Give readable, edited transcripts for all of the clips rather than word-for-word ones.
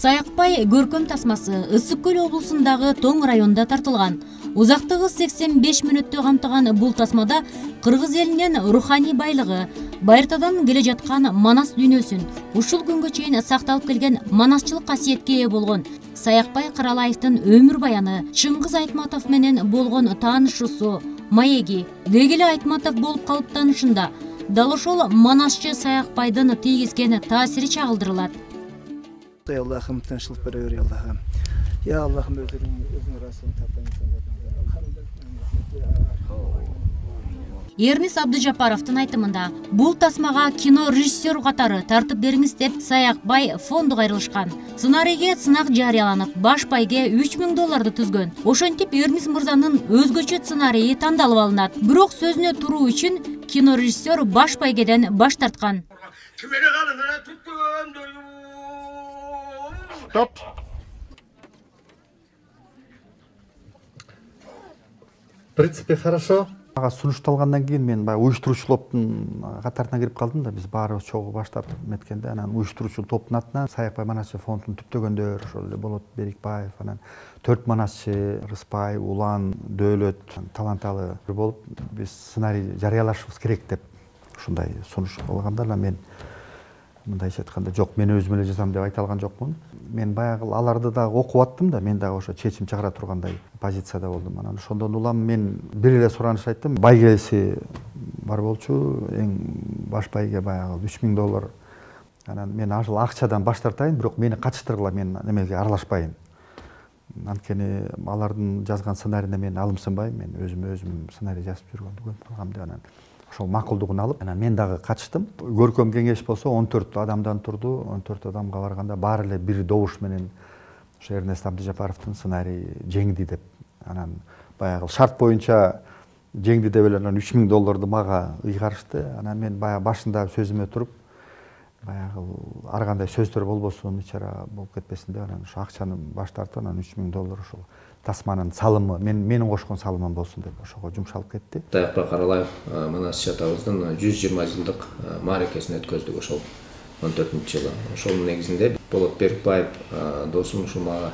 Саякбай көркөм тасмасы Ысык Көл облусундагы Тоң районунда тартылган. Узактыгы 85 мүнөттү камтыган бул тасмада кыргыз элинин руханий байлыгы, байыртадан келе жаткан манас дүйнөсүн, ушул күнгө чейин сакталып келген манасчылык касиетке ээ болгон Саякбай Каралаевдин өмүр баяны, Чыңгыз Айтматов менен болгон таанышуусу, маеги, Дегеле Айтматов болуп калыптанышында дал ошол манасчы Саякбайдын тийгизген таасири чагылдырылат. Ya Allah'ım tinçlik veriyor ya Allah'ım. Ya Allah'ım özün rasılını tapayın. Эрнис Абдыжапаровдун айтымында бул тасмага кино режиссер катары тартып бериңиз деп Саякбай фонду кайрылышкан. Сценарийге сынак жарыяланып, баш байге $3000 түзгөн. Ошентип Эрнис мырзанын өзгөчө сценарийи тандалып алынат. Бирок сөзүнө туруу үчүн кино режиссер баш байгеден баш тарткан. Стоп. В принципе, хорошо. Ага сунушталгандан кийин мен баягы уюштуруучу топтун катарына кирип калдым да. Биз баарыбыз чогуу баштап меткенде, анан уюштуруучу топтун атынан Саякбай манасчы фондун түптөгөндөр ошол эле Болот Берикбаев, анан 4 манасчы Рыспай, Улан, Дөөлөт, таланталы болуп биз сценарий жарыялашыбыз керек деп ушундай сунуш болгондор. Мен мындайча айтканда жок, мен өзүм эле жазам деп айта алган жокмун. Мен баягы аларды да окуп аттым да, мен дагы ошо чечим чыгара тургандай позицияда болдум. Анан ошондон улам мен бир эле сураныш айттым. Байгеси бар болчу, эң баш байге баягы $3000. Анан мен ажыл акчадан баш тартайын, бирок мени качтыргыла, мен немеге аралашпайын. Анткени алардын жазган сценариине мен алымсынбайм, мен өзүм сценарий жазып жүргөндүгүн калгам деп анан ошол макулдугун алып, анан мен дагы качтым. Көркөм кеңеш болсо 14 адамдан турду. 14 адамга барганда баары эле бир добуш менен ошо Эрнест Абдыжапаровдун сценарийи жеңди деп. Анан баягы шарт боюнча жеңди деп эле анан $3000 мага ыйгарышты. Анан мен баягы башында сөзүмө туруп, баягы ар кандай сөздөр болбосун, ичара болуп кетпесин деп анан ошо акчаны баш тартып, анан $3000 ошол тасманын салымы, менин кошкон салымым болсун деп ошого жумшалып кетти. Саякбай Каралаев манасчы атабыздын 120 жылдык мааракесин өткөздүк ошол 14-жылы. Ошонун негизинде Болот Берикбаев досум ушул мага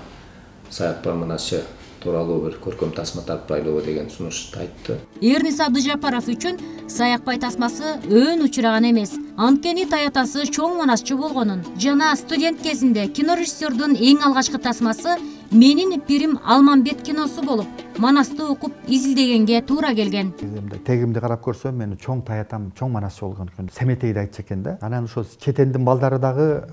Саякбай манасчы тууралуу бир көркөм тасма тартпайлыбы деген сунушту айтты. Эрнис Абдыжапаров үчүн Саякбай тасмасы өөн учураган эмес. Анткени таятасы чоң манасчы болгонун жана студент кезинде кинорежиссердун эң алгачкы тасмасы Менин пирим Алманбет киносу болуп, манасты окуп изилдегенге туура келген. Тегимди карап көрсөм, мен чоң таятам, чоң манасчы болгон экен. Семетейди айтчу экен да. Анан ошол четендин балдары дагы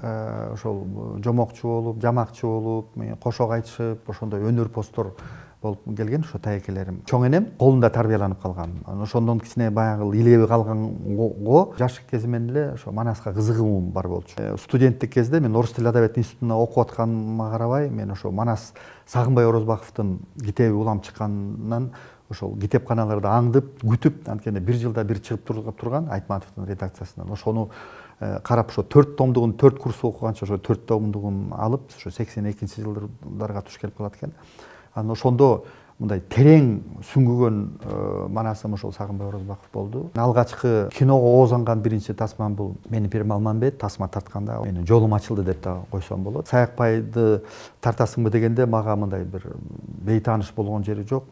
ошол жомокчу болуп, жамакчы болуп, кошок айтышып, ошондой өнөр постор болуп келген ошо таекелерим. Чоң энем колунда тарбияланып калган. Ошондон кичине баягы илеби калганго жаш кезимден эле ошо манаска кызыгуум бар болчу. Студенттик кезде мен Орус тил адабият институтуна окуп атканыма карабай, мен ошо Манас Сагынбай Орозбаковдун китеби улам чыкканынан ошол китепканаларда аңдып, күтүп, анткени бир жылда бир чыгып турган Айтматовдун редакциясынан. Ошону карап ошо 4 томдугун 4 курс окуганча ошо 4 томдугун алып, ошо 82-жылдарга туш келип калат экен. Анан ошондо мындай терең сүңгүгөн манасым ошол Сагынбай Орозбаков болду. Алгачкы киного оозанган биринчи тасмам бул Менин пирим Алманбет. Тасма тартканда менин жолум ачылды деп да койсом болот. Саякбайды тартасыңбы дегенде мага мындай бир бейтааныш болгон жери жок.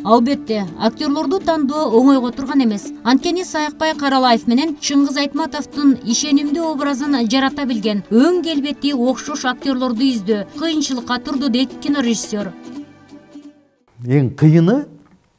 Албетте, актерлорду тандоо оңойго турган эмес. Анткени Саякбай Каралаев менен Чыңгыз Айтматовдун ишенимдүү образын жарата билген, өң келбети окшош актерлорду издөө кыйынчылыкка турду дейт кинорежиссер. Эң кыйыны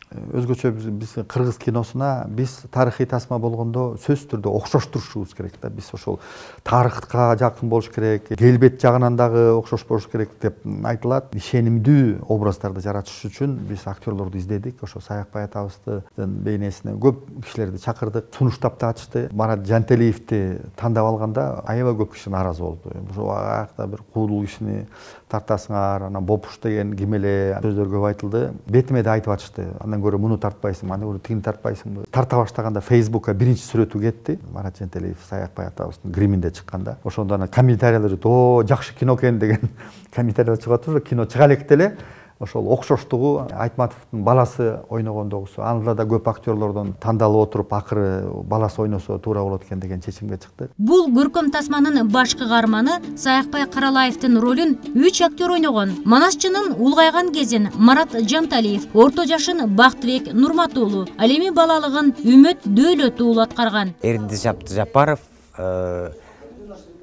өзгөчө биз кыргыз киносуна биз тарыхый тасма болгондо сөзсүз түрдө окшоштурушубуз керек да. Биз ошол тарыхка жакын болуш керек, келбет жагынан дагы окшош болуш керек деп айтылат. Ишенимдүү образдарды жаратыш үчүн биз актерлорду издедик. Ошо Саякбай атабыздын бейнесине көп кишилерди чакырдык, сунуштап да ачты. Марат Жантелиевди тандап алганда аябай көп киши нааразы болду. Ошо аякта бир куудул кишини тартасыңар, анан бопуш деген ким эле сөздөр көп айтылды. Бетиме да айтып ачышты. Андан көрө муну тартпайсың, аны көрө тигини тартпайсыңбы. Тарта баштаганда Facebookка биринчи сүрөтү кетти. Марат Жантелиев Саякбай атабыздын гриминде чыкканда. Ошондо анан комментарийлер жакшы кино экен деген комментарийлер чыгып атты. Кино чыга электе эле ошол окшоштугу Айтматовдун баласы ойногондогусу. Анда да көп актерлордон тандалып отуруп акыры баласы ойносо туура болот экен деген чечимге чыкты. Бул көркөм тасманын баш каарманы Саякбай Каралаевдин ролун 3 актер ойногон. Манасчынын улгайган кезин Марат Жанталиев, орто жашын Бактыбек Нурматуулу, ал эми балалыгын Үмөт Дөөлөт уулу аткарган. Эрдис Абдыжапаров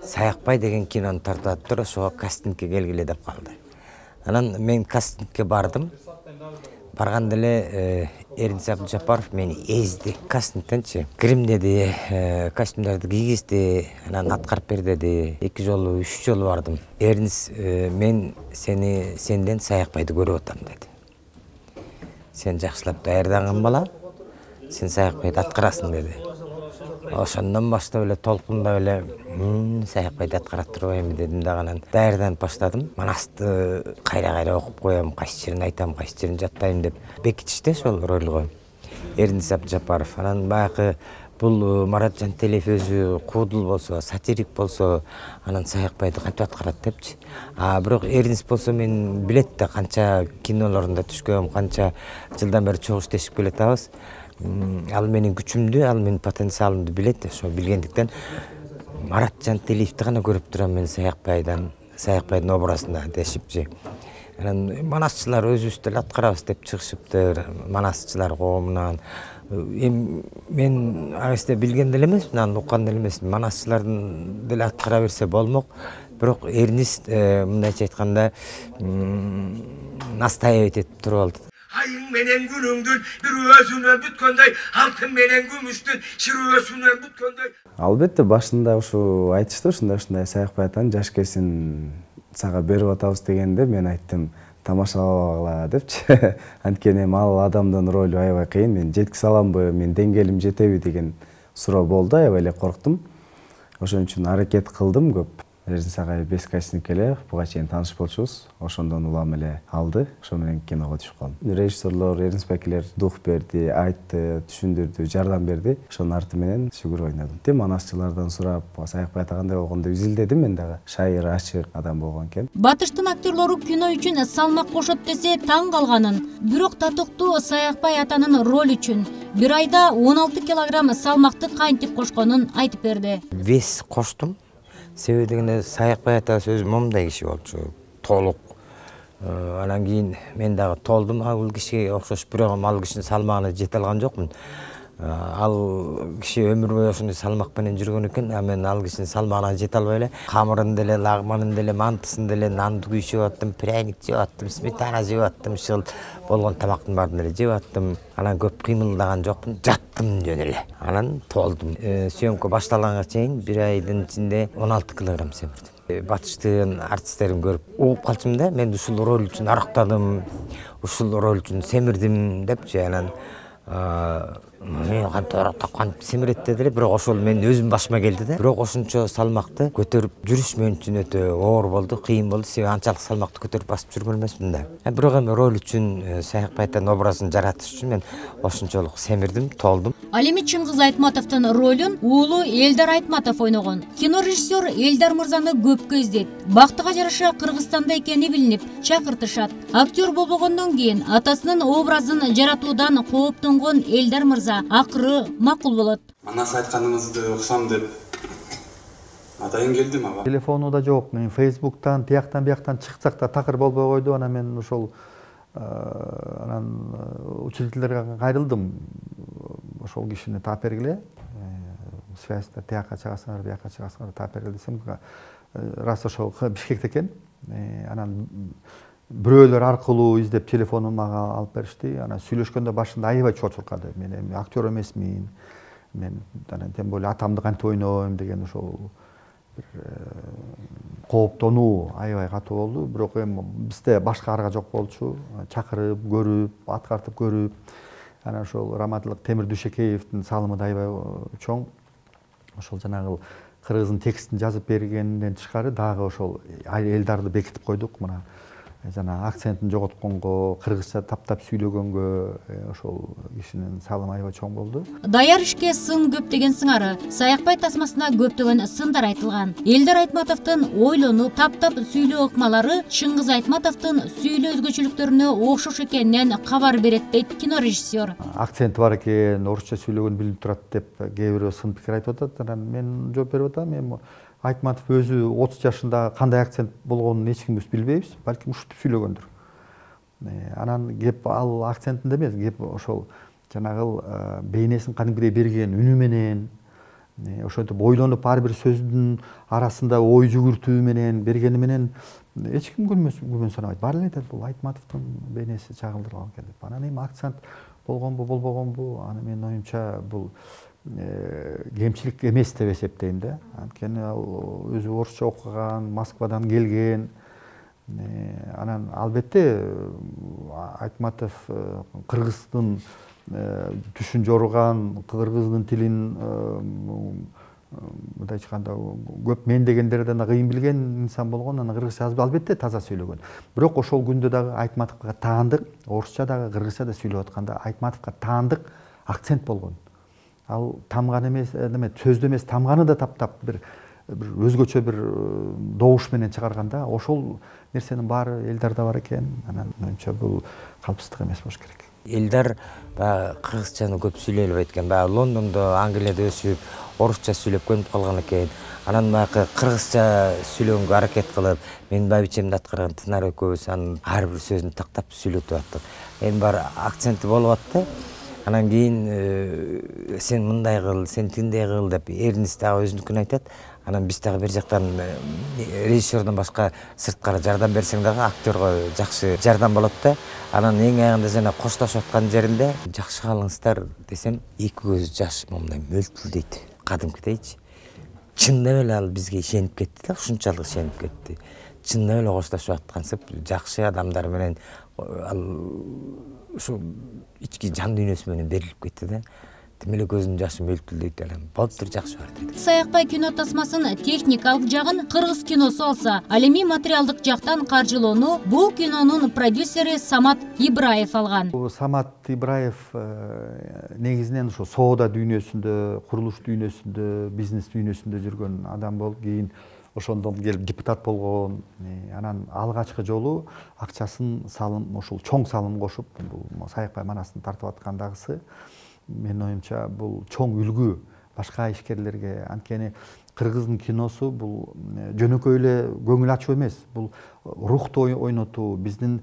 Саякбай деген кинону тартып туруп ошого кастингке келгиле деп калды. Анан мен кастингке бардым. Барганда эле Эрдис Абдыжапаров мени эзди. Кастингтенчи кирим деди, костюмдарды кийгизди, анан аткарып бер деди. 2 жолу, 3 жолу бардым. Эрдис мен сенден Саякбайды көрүп атам деди. Сен жакшылап даярданган бала, сен Саякбайды аткарасың деди. Ошондон баштап эле толкундап эле Саякбайды аткара турбайбы дедим дагы, анан даярданып баштадым. Манасты кайра окуп коем, кайсы жерин айтам, кайсы жерин жаттайм деп бекитишти ошол ролго. Эрдис Абдыжапаров. Анан баягы бул Марат Жанталиев өзү куудул болсо, сатирик болсо, анан Саякбайды кантип аткарат депчи. Бирок Эрдис болсо мен билет да канча кинолорунда түшкөм, канча жылдан бери чогуу иштешип келатабыз. Ал менин күчүмдү, ал менин потенциалымды билет. Ошо билгендиктен Марат Жанталиевди гана көрүп турам мен Саякбайдын образында дешипчи. Анан манасчылар өзүбүз деле аткарабыз деп чыгышыптыр, манасчылар коомунан. Мен агысты билген деле эмесмин, анан уккан деле эмесмин. Манасчылардын деле аткара берсе болмок. Бирок Эрдис мындайча айтканда настаивать этип туруп алды. Айың менен күнүңдүн бирөөсүнө бүткөндөй, алтын менен күмүштүн ширөөсүнө бүткөндөй. Албетте башында ушу айтышты, ушундай Саякбай атанын жаш кесин сага берип атабыз дегенде мен айттым, тамашалабагыла депчи. Анткени ал адамдын ролу аябай кыйын, мен жеткизе аламбы, мен деңгээлим жетеби деген суроо болду, аябай эле корктум. Ошон үчүн аракет кылдым көп. Эрдис агай 5 кастинг эле буга чейин тааныш болчубуз. Ошондон улам эле алды. Ошо менен киного түшүп калдым. Режиссерлор, эринспекерлер дух берди, айтты, түшүндүрдү, жардам берди. Ошонун арты менен шүгүр ойнодум. Манасчылардан сурап, Саякбай атагандай болгондо изилдедим мен дагы. Шайыр, ачык адам болгон экен. Батыштын актерлору кино үчүн салмак кошот десе таң калганын. Бирок татыктуу Саякбай атанын роль үчүн 1 айда 16 килограмм салмакты кантип кошконун айтып берди. Вес коштум. Себеби дегенде Саякбай ата өзү момундай киши болчу, толук. Анан кийин мен дагы толдум ал кишиге окшош, бирок ал кишинин салмагына жете алган жокмун. Ал киши өмүр бою ошондой салмак менен жүргөн экен, мен ал кишинин салмагына жете албай эле камырын деле, лагманын деле, мантысын деле, нанды күйүп жеп аттым, пряник жеп аттым, сметана жеп аттым, шыл болгон тамактын баарын эле жеп аттым. Анан көп кыймылдаган жокмун, жаттым жөн эле. Анан толдум. Съемка башталганга чейин 1 айдын ичинде 16 килограмм семирдим. Батыштын артисттерин көрүп угуп калчумун да, мен ушул роль үчүн арыктадым, ушул роль үчүн семирдим депчи. Анан мен кантип семирет дедиле, бирок ошол менин өзүм башыма келди да. Бирок ошончо салмакты көтөрүп жүрүш мен үчүн өтө оор болду, кыйын болду. Себеби анчалык салмакты көтөрүп басып жүргөн эмесмин да. Бирок эми роль үчүн, Саякбай атанын образын жаратыш үчүн мен ошончолук семирдим, толдум. Ал эми Чыңгыз Айтматовдун ролун уулу Элдар Айтматов ойногон. Кино режиссер Элдар мырзаны көпкө издейт. Бактыга жараша Кыргызстанда экени билинип, чакыртышат. Актер болбогондон кийин атасынын образын жаратуудан кооптонгон Элдар мырза акыры макул болот. Манас айтканыңызды уксам деп атайын келдим ага. Телефону да жок, мен Facebooktан, тияктан бияктан чыксак да такыр болбой койду. Анан мен ошол учителдерге кайрылдым. Ошол кишини таап бергиле. Связьда тиякка чыгасыңар, биякка чыгасыңар, таап бергиле десем, раз ошол Бишкекте экен. Анан бирөөлөр аркылуу издеп телефонун мага алып беришти. Анан сүйлөшкөндө башында аябай чочуркады. Мен эми актер эмесмин. Мен анан тем более атамды кантип ойнойм деген ошол кооптонуу аябай катуу болду. Бирок эми бизде башка арга жок болчу. Чакырып, көрүп, аткартып көрүп. Анан ошол Раматылык Темир Дүйшекеевдин салымы да аябай чоң. Ошол жанагы кыргыздын текстин жазып бергенден тышкары дагы ошол Элдарды бекитип койдук. Мына жана акцентин жоготконго, кыргызча таптап сүйлөгөнгө ошол кишинин салымы аябай чоң болду. Даяр ишке сын көп деген сыңары. Саякбай тасмасына көптөгөн сындар айтылган. Элдар Айтматовдун ойлонуп, таптап сүйлөө ыкмалары Чыңгыз Айтматовдун сүйлөө өзгөчөлүктөрүнө окшош экенинен кабар берет дейт кинорежиссер. Акценти бар экен, орусча сүйлөгөн билинип турат деп кээ бирөө сын пикир айтып атат. Анан мен жооп берип атам, эми Айтматов өзү 30 жашында кандай акцент болгонун эч кимибиз билбейбиз, балким ушинтип сүйлөгөндүр. Анан кеп ал акцентинде эмес, кеп ошол жанагыл бейнесин кадимкидей берген үнү менен, ошентип ойлонуп ар бир сөздүн арасында ой жүгүртүү менен бергени менен эч ким күмөн санабайт. Баары эле айтат, бул Айтматовдун бейнеси чагылдырылган экен деп. Анан эми акцент болгонбу, болбогонбу, аны менин оюмча бул кемчилик эмес деп эсептейм да. Анткени ал өзү орусча окуган, Москвадан келген. Анан албетте Айтматов кыргыздын түшүн жоруган, кыргыздын тилин мындай айтканда көп мен дегендерден кыйын билген инсан болгон, анан кыргызча жазып албетте таза сүйлөгөн. Бирок ошол күндө дагы Айтматовго таандык, орусча дагы кыргызча да сүйлөп атканда Айтматовго таандык акцент болгон. Ал тамган эмес, сөздө эмес, тамганы да таптап бир өзгөчө бир добуш менен чыгарганда, ошол нерсенин баары Элдарда бар экен. Анан менимче бул калпсыздык эмес болуш керек. Элдар кыргызчаны көп сүйлөй албайт экен. Лондондо, Англияда өсүп, орусча сүйлөп көнүп калган экен. Анан кыргызча сүйлөгөнгө аракет кылып, менин байбичемди аткарган Тынар экөөбүз анын ар бир сөзүн тактап сүйлөтүп аттык. Эми бар акценти болуп атты. Анан кийин сен мындай кыл, сен тиндей кыл деп Эрнис дагы өзүнүкүн айтат. Анан биз дагы бер жактан режиссердон башка сырткары жардам берсең дагы актерго жакшы жардам болот да. Анан эң аягында жана коштошуп аткан жеринде жакшы калыңыздар десем, эки көзү жаш момундай мөлтүлдейт. Кадимкидейчи. Чындап эле ал бизге ишенип кетти да, ушунчалык ишенип кетти. Чындап эле коштошуп аткансып, жакшы адамдар менен ал ушу ички жан дүйнөсү менен берилип кетти да. Тим эле көзүнүн жашы мөлтүлдөйт эле. Болуптур, жакшы бар деди. Саякбай кино тасмасын техникалык жагын кыргыз киносу алса, ал эми материалдык жактан каржылоону бул кинонун продюсери Самат Ибраев алган. Самат Ибраев негизинен ошо соода дүйнөсүндө, курулуш дүйнөсүндө, бизнес дүйнөсүндө жүргөн адам болуп, кийин ошондон келип депутат болгон. Анан алгачкы жолу акчасын салым, ошол чоң салым кошуп, бул Саякбай манасын тартып аткандагысы менин оюмча бул чоң үлгү башка ишкерлерге. Анткени кыргыздын киносу бул жөнөкөй эле көңүл ачуу эмес. Бул рухту ойнотуу, биздин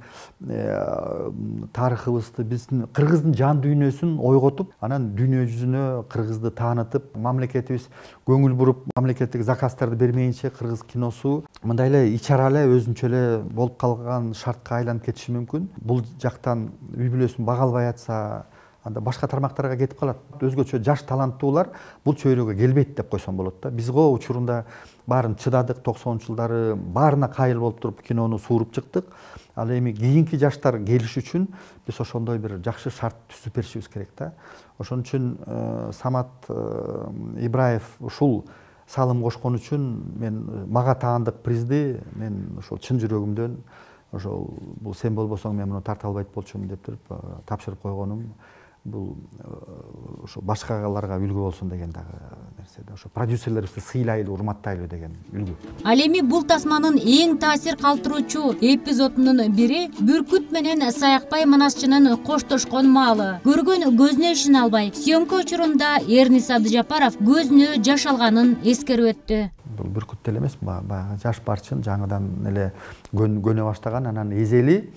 тарыхыбызды, биздин кыргыздын жан дүйнөсүн ойготуп, анан дүйнө жүзүнө кыргызды таанытып, мамлекетибиз көңүл буруп, мамлекеттик заказдарды бермейинче кыргыз киносу мындай эле ичара эле өзүнчө эле болуп калган шартка айланып кетиши мүмкүн. Бул жактан үй бүлөсүн бага албай атса, анда башка тармактарга кетип калат. Өзгөчө жаш таланттуулар бул чөйрөгө келбейт деп койсом болот да. Биз го учурунда баарын чыдадык, 90-жылдары баарына кайыл болуп туруп кинону сууруп чыктык. Ал эми кийинки жаштар келиш үчүн биз ошондой бир жакшы шарт түзүп беришибиз керек да. Ошон үчүн Самат Ибраев ушул салым кошкон үчүн мен мага таандык призди мен ошол чын жүрөгүмдөн ошол бул сен болбосоң мен муну тарта албайт болчумун деп туруп тапшырып койгонум. Бул ошо башкаларга үлгү болсун деген дагы нерсе да. Ошо продюсерлерибизди сыйлайлы, урматтайлы деген үлгү. Ал эми бул тасманын эң таасир калтыруучу эпизодунун бири Бүркүт менен Саякбай Манасчынын коштошкон маалы. Көргөн көзүнө ишене албай, съемка учурунда Эрнис Абдыжапаров көзүнө жаш алганын эскерип өттү. Бул Бүркүт эле эмес, баягы жаш барчын жаңыдан эле көнө баштаган, анан эзели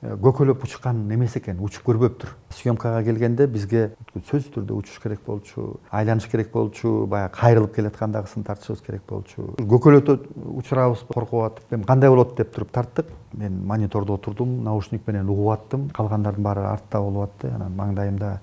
көкөлөп учкан эмес экен, учуп көрбөптүр. Съемкага келгенде бизге сөзсүз түрдө учуш керек болчу, айланыш керек болчу, баягы кайрылып келаткандагысын тартышыбыз керек болчу. Көкөлөтө учурабыз коркуп атып, эми кандай болот деп туруп тарттык. Мен монитордо отурдум, наушник менен угуп аттым. Калгандардын баары артта болуп атты. Анан маңдайымда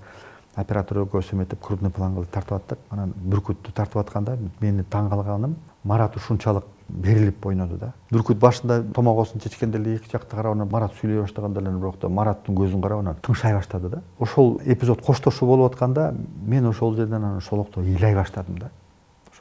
оператор көсөм этип крупный план кылып тартып аттык. Анан Бүркүттү тартып атканда мени таң калганым, Марат ушунчалык берилип ойноду да. Бүркүт башында томогосун чечкенде эле эки жакты карап, анан Марат сүйлөй баштаганда эле бирок да Мараттын көзүн карап, анан тыңшай баштады да. Ошол эпизод коштошуу болуп атканда мен ошол жерден анан шолокто ыйлай баштадым да.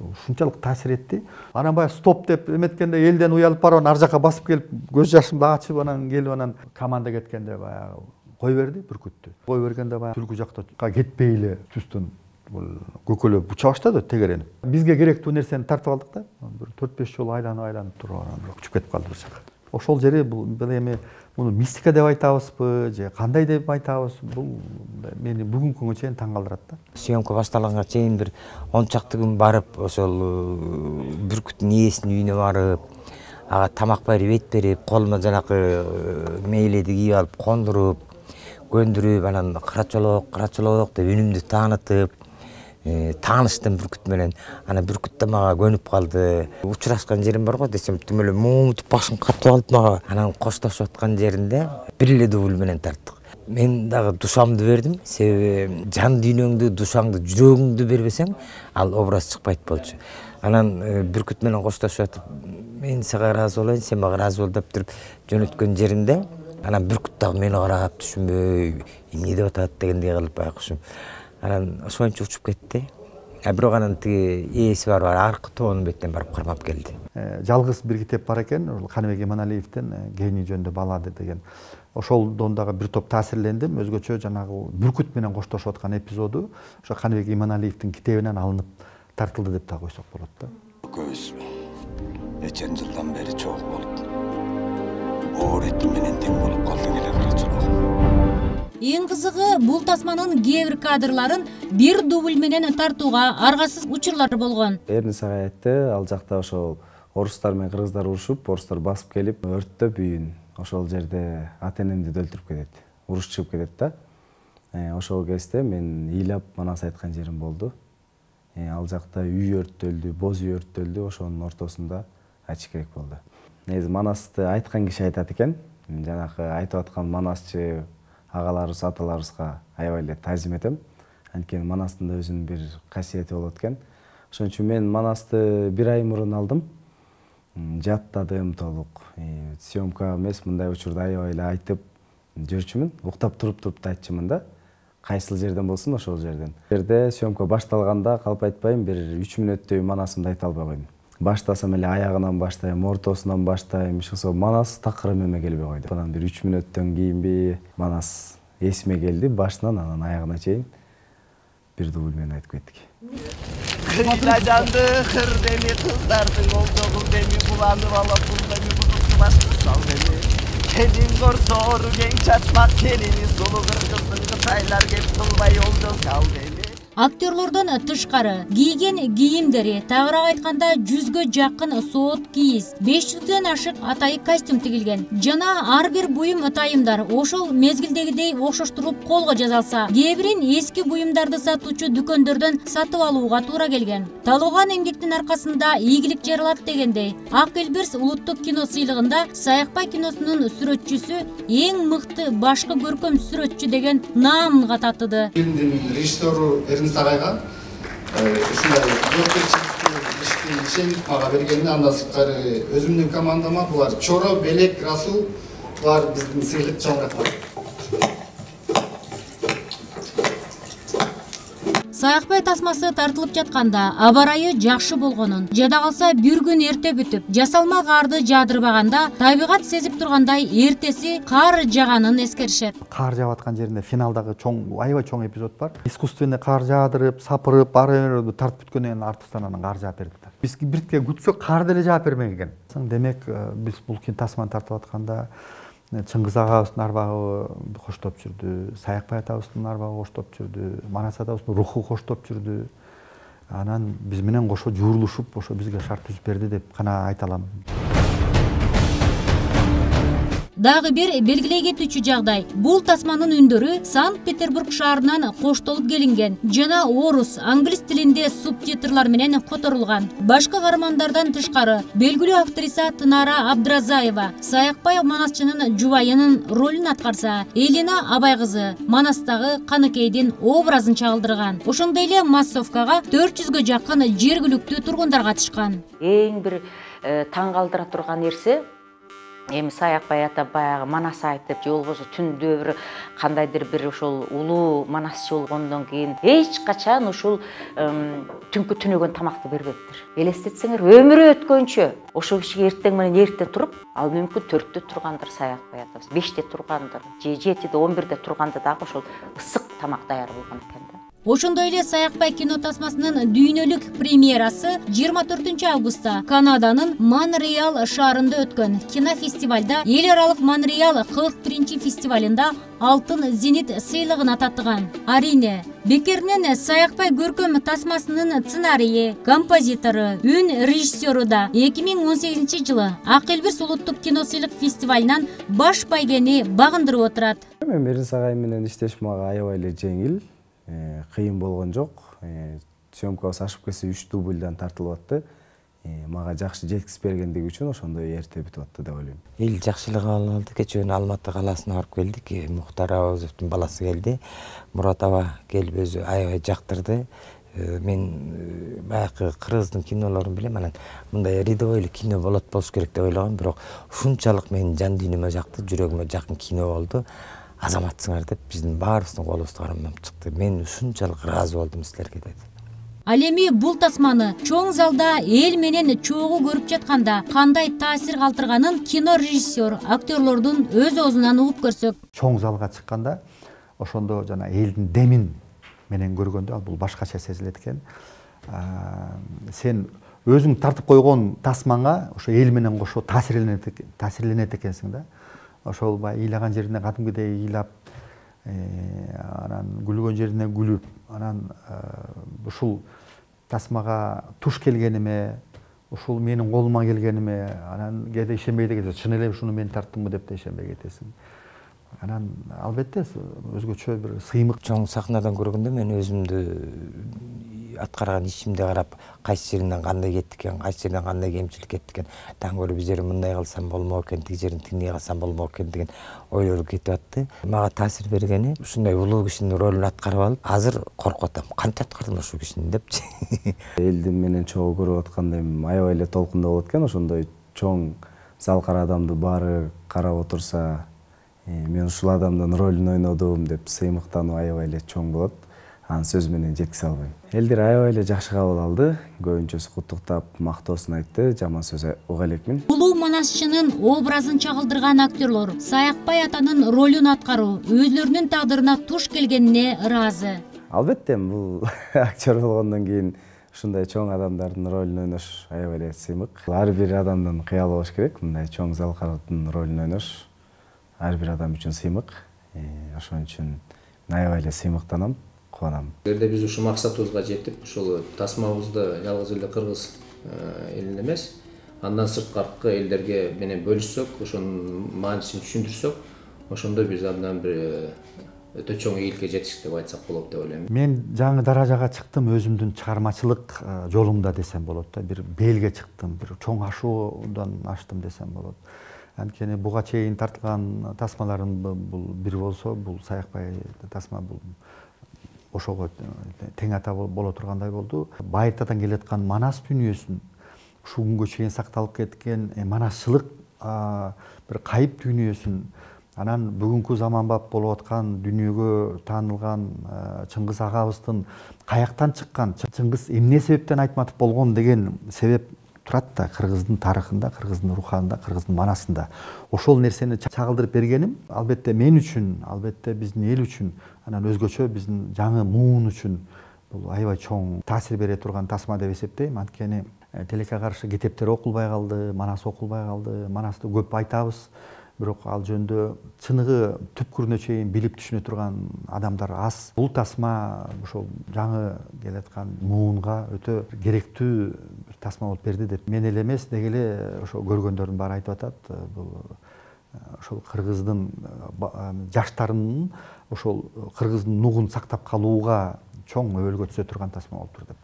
ушунчалык таасир этти. Анан баягы стоп деп эметкенде элден уялып барып ар жака басып келип көз жашымды ачып анан келип анан команда кеткенде баягы кой берди бүркүттү. Кой бергенде баягы түлкү жакта кетпей эле түстөн бул көкөлөп уча баштады тегеренип. Бизге керектүү нерсени тартып алдык да. Бир 4-5 жолу айланып туруп анан учуп кетип калды бир жака. Ошол жери бул эми муну мистика деп айтабызбы же кандай деп айтабыз, бул мени бүгүнкү күнгө чейин таң калтырат да. Съемка башталганга чейин бир 10 чакты күн барып, ошол бүркүттүн ээсинин үйүнө барып, ага тамак берип, эт берип, колума жанакы мейледи кийип алып, кондуруп, көндүрүп, анан карачолок деп үнүмдү таанытып, тааныштым бүркүт менен. Анан бүркүт да мага көнүп калды. Учурашкан жерим бар го десем, тим эле муңутуп башын катып алып мага. Анан коштошуп аткан жеринде бир эле дубль менен тарттык. Мен дагы душамды бердим, себеби жан дүйнөңдү, душаңды, жүрөгүңдү бербесең, ал образ чыкпайт болчу. Анан бүркүт менен коштошуп атып, мен сага ыраазы болоюн, сен мага ыраазы бол деп туруп жөнөткөн жеримде, анан бүркүт дагы мени карап түшүнбөй, эмне деп атат дегендей кылып байкушум. Анан ошончо учуп кетти. Бирок анан тиги ээси бар аркы тоонун бетинен барып кармап келди. Жалгыз бир китеп бар экен, Каныбек Иманалиевден Гений жөнүндө баллада деген. Ошолдон дагы бир топ таасирлендим. Өзгөчө жанагы бүркүт менен коштошуп аткан эпизоду ошо Каныбек Иманалиевдин китебинен алынып тартылды деп да койсок болот да. Көз нечен жылдан бери чогуу болуп, оорет менен тең болуп калды келе барачылык. Эң кызыгы, бул тасманын кээ бир кадрларын бир дубль менен тартууга аргасыз учурлар болгон. Эрни сага айтты, ал жакта ошол орустар менен кыргыздар урушуп, орустар басып келип, өрттөп үйүн. Ошол жерде ата-энемди өлтүрүп кетет. Уруш чыгып кетет да. Ошол кезде мен ыйлап манас айткан жерим болду. Ал жакта үй өрттөлдү, боз үй өрттөлдү, ошонун ортосунда айтыш керек болду. Негизи манасты айткан киши айтат экен. Жанакы айтып аткан манасчы агаларыбыз, аталарыбызга аябай эле таазим этем. Анткени манастын да өзүнүн бир касиети болот экен. Ошон үчүн мен манасты бир ай мурун алдым. Жаттадым толук. Съемка эмес, мындай учурда аябай эле айтып жүрчүмүн. Уктап туруп да айтчумун да. Кайсыл жерден болсун, ошол жерден. Жерде съемка башталганда калп айтпайм, бир 3 мүнөттөй манасымды айта албай койдум. Баштасам эле аягынан баштайм, ортосунан баштайм, ошо манас такыр эме келбей койду. Анан бир 3 мүнөттөн кийинби манас эсиме келди, башынан анан аягына чейин бир дубль менен айтып кеттик. Кыйнажанды кырдени кыздардын олдогул деми буланып алып булдами бузукту башкы сал деми. Келин корсоор кең чачмак келини сулуу кыргыздын кытайлар кеп кылбай олдо сал деми. Актерлордон тышкары кийген кийимдери, тагыраак айтканда 100гө жакын соот кийиз, 500дөн ашык атайы костюм тигилген. Жана ар бир буюм атайымдар ошол мезгилдегидей окшоштуруп колго жасалса, кээ бирин эски буюмдарды сатуучу дүкөндөрдөн сатып алууга туура келген. Талган эмгектин аркасында ийгилик жаралат дегендей, Ак Элберс улуттук кино сыйлыгында Саякбай киносунун сүрөтчүсү эң мыкты башкы көркөм сүрөтчү деген наамга татыды. Фильмдин режиссеру Сарайга ушундай жоопкерчиликтүү ишти ишенип мага бергени, андан сырткары өзүмдүн командама булар Чоро, Белек, Расул булар биздин сыйлык чалгаттар. Саякбай тасмасы тартылып жатканда аба ырайы жакшы болгонун, жада калса бир күн эрте бүтүп, жасалма карды жаадырбаганда табигат сезип тургандай эртеси кар жаганын эскеришет. Кар жаап аткан жеринде финалдагы аябай чоң эпизод бар. Искусственный кар жаадырып, сапырып, баары тартып бүткөндөн кийин артыстан анан кар жаап бердик. Биз биртке күтсөк кар деле жаап бермеген. Демек, биз бул тасманы тартып атканда Чыңгыз агабыздын арбагы коштоп жүрдү, Саякбай атабыздын арбагы коштоп жүрдү, Манас атабыздын руху коштоп жүрдү. Анан биз менен кошо жуурулушуп, ошо бизге шарт түзүп берди деп гана айта алам. Дагы бир белгилей кетүүчү жагдай. Бул тасманын үндөрү Санкт-Петербург шаарынан коштолуп келинген жана орус, англис тилинде субтитрлар менен которулган. Башка каармандардан тышкары белгилүү актриса Тынара Абдразаева Саякбай манасчынын жубайынын ролун аткарса, Элина Абай кызы Манастагы Каныкейдин образын чагылдырган. Ошондой эле массовкага 400гө жакын жергиликтүү тургундар катышкан. Эң бир таң калтыра турган нерсе, Эми Саякбай ата баягы Манас айтып, же болбосо түндө бир кандайдыр бир ошол улуу манасчы болгондон кийин эч качан ушул түнкү түнөгөн тамакты бербептир. Элестетсеңер, өмүрү өткөнчө ошол кишиге эртең менен эрте туруп, ал мүмкүн 4-тө тургандыр Саякбай атабыз, 5-те тургандыр, же 7-де, 11-де турганда дагы ошол ысык тамак даяр болгон экен да. Ошондой эле Саякбай кино тасмасынын дүйнөлүк премьерасы 24-августта Канаданын Монреал шаарында өткөн кинофестивалда эл аралык Монреал 41-фестивалында алтын зенит сыйлыгын ататтыган. Арине, бекеринен Саякбай көркөм тасмасынын сценарийи, композитору, үн режиссеру да 2018 жылы Ак Элбирс улуттук кино сыйлык фестивалынан баш байгени багындырып отурат. Мен Эринс агай менен иштеш мага аябай эле жеңил. Кыйын болгон жок. Съемкабыз ашып кетсе 3 дубльдан тартылып атты. Мага жакшы жеткирип бергендиги үчүн ошондой эрте бүтүп атты деп ойлойм. Эл жакшылык алды. Кечээ Алматы калаасына барып келдик. Мухтар Абазовдун баласы келди. Мурат аба келип өзү аябай жактырды. Мен баягы кыргыздын кинолорун билем, анан мындай рядовой эле кино болуш керек деп ойлогом, бирок ушунчалык менин жан дүйнөмө жакты, жүрөгүмө жакын кино болду. Азаматсыңар деп биздин баарыбыздын колубузду кармап чыкты. Мен ушунчалык ыраазы болдум силерге деди. Ал эми бул тасманы чоң залда эл менен чогуу көрүп жатканда кандай таасир калтырганын кино режиссер, актерлордун өз оозунан угуп көрсөк. Чоң залга чыкканда ошондо жана элдин демин менен көргөндө бул башкача сезилет экен. Сен өзүң тартып койгон тасмаңа ошо эл менен кошо таасирленет экенсиң да. Ошол ыйлаган жерине кадимгидей ыйлап, анан күлгөн жерине күлүп, анан ушул тасмага туш келгениме, ушул менин колума келгениме, анан кээде ишенбей кетесиң, чын эле ушуну мен тарттымбы деп да ишенбей кетесиң. Анан албетте өзгөчө бир сыймык. Чоң сахнадан көргөндө мен өзүмдү аткарган ишимди карап, кайсы жеринен кандай кетти экен, кайсы жеринен кандай кемчилик кетти экен, таңгөрү бир жерин мындай кылсам болмок экен, тиги жерин тиндей кылсам болмок экен деген ойлор кетип атты. Мага таасир бергени ушундай улуу кишинин ролун аткарып алып, азыр коркуп атам. Кантип аткардым ушул кишини депчи. Элдин менен чогуу көрүп аткандай аябай эле толкундуу болот экен. Ошондой чоң зал кара адамды баары карап отурса, мен ушул адамдын ролун ойнодум деп сыймыктануу аябай эле чоң болот. Анын сөз менен жеткизе албайм. Элдер аябай эле жакшы кабыл алды. Көбүнчөсү куттуктап, мактоосун айтты, жаман сөз уга элекмин. Улуу манасчынын образын чагылдырган актерлор Саякбай атанын ролун аткаруу өзлөрүнүн тагдырына туш келгенине ыраазы. Албетте, бул актер болгондон кийин ушундай чоң адамдардын ролун ойнош аябай эле сыймык. Ар бир адамдын кыялы болуш керек. Мындай чоң залкардын ролун ойнош ар бир адам үчүн сыймык. Ошон үчүн аябай эле сыймыктанам. Эгерде биз ушул максатыбызга жетип, ушул тасмабызды жалгыз эле кыргыз элине эмес, андан сырткаркы элдерге менен бөлүшсөк, ошонун маанисин түшүндүрсөк, ошондо биз абдан бир өтө чоң ийгиликке жетиштик деп айтсак болот деп ойлойм. Мен жаңы даражага чыктым өзүмдүн чыгармачылык жолумда десем болот да, бир белге чыктым, бир чоң ашуудан аштым десем болот. Анткени буга чейин тартылган тасмаларым бул бир болсо, бул Саякбай тасма бул ошого тең ата боло тургандай болду. Байыртадан келаткан манас дүйнөсүн ушул күнгө чейин сакталып кеткен манасчылык бир кайып дүйнөсүн, анан бүгүнкү заманбап болуп аткан дүйнөгө таанылган Чыңгыз агабыздын каяктан чыккан, Чыңгыз эмне себептен айтматов болгон деген себеп турат да кыргыздын тарыхында, кыргыздын руханында, кыргыздын манасында. Ошол нерсени чагылдырып бергеним албетте мен үчүн, албетте биздин эл үчүн, анан өзгөчө биздин жаңы муун үчүн бул аябай чоң таасир бере турган тасма деп эсептейм. Анткени тилекке каршы китептер окулбай калды, манас окулбай калды, манасты көп айтабыз, бирок ал жөнүндө чыныгы түпкүрүнө чейин билип түшүнө турган адамдар аз. Бул тасма ошол жаңы келаткан муунга өтө керектүү тасма болуп берди деп мен эле эмес, деги эле ошо көргөндөрдүн баары айтып атат. Бул ошол кыргыздын жаштарынын ошол кыргыздын нугун сактап калууга чоң өбөлгө түзө турган тасма болуптур деп.